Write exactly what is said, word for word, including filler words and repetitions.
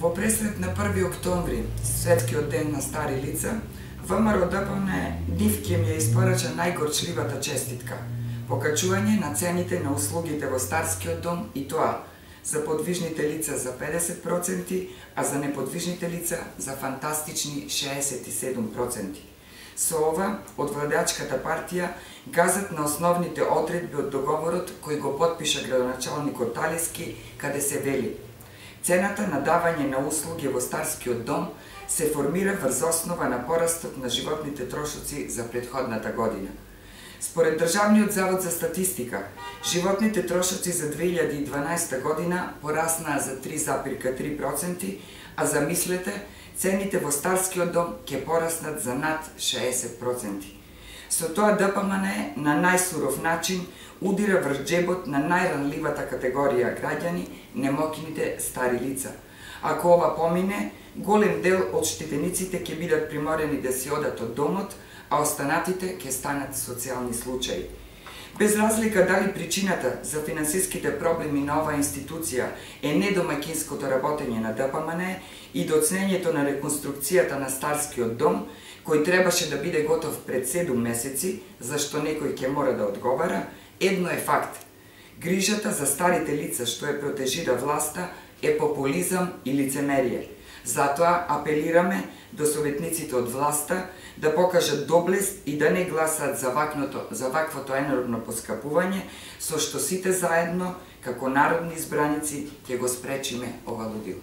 Во пресрет на први октомври, светскиот ден на стари лица, ВМРО-ДПМН нив ќе ми ја испорача најгорчливата честитка – покачување на цените на услугите во Старскиот дом, и тоа за подвижните лица за педесет проценти, а за неподвижните лица за фантастични шеесет и седум проценти. Со ова, од владеачката партија газат на основните одредби од договорот кој го потпиша градоначалникот Талески, каде се вели: цената на давање на услуги во Старскиот дом се формира врз основа на порастот на животните трошоци за претходната година. Според Државниот завод за статистика, животните трошоци за две илјади и дванаесета година пораснаа за три запирка три проценти, а замислете, цените во Старскиот дом ќе пораснат за над шеесет проценти. Со тоа ДПМН на најсуров начин удира врз џебот на најранливата категорија граѓани, немокините стари лица. Ако ова помине, голем дел од штетениците ќе бидат приморени да си одат од домот, а останатите ќе станат социјални случаи. Без разлика дали причината за финансиските проблеми на оваа институција е недомаќинското работење на ДПМН и доцнењето на реконструкцијата на Старскиот дом, кој требаше да биде готов пред седум месеци, зашто некој ќе мора да одговара, едно е факт. Грижата за старите лица што е протежира власта е популизам и лицемерие. Затоа апелираме до советниците од власта да покажат доблест и да не гласаат за вакното, за ваквото енормно поскапување, со што сите заедно, како народни избраници, ќе го спречиме ова лудило.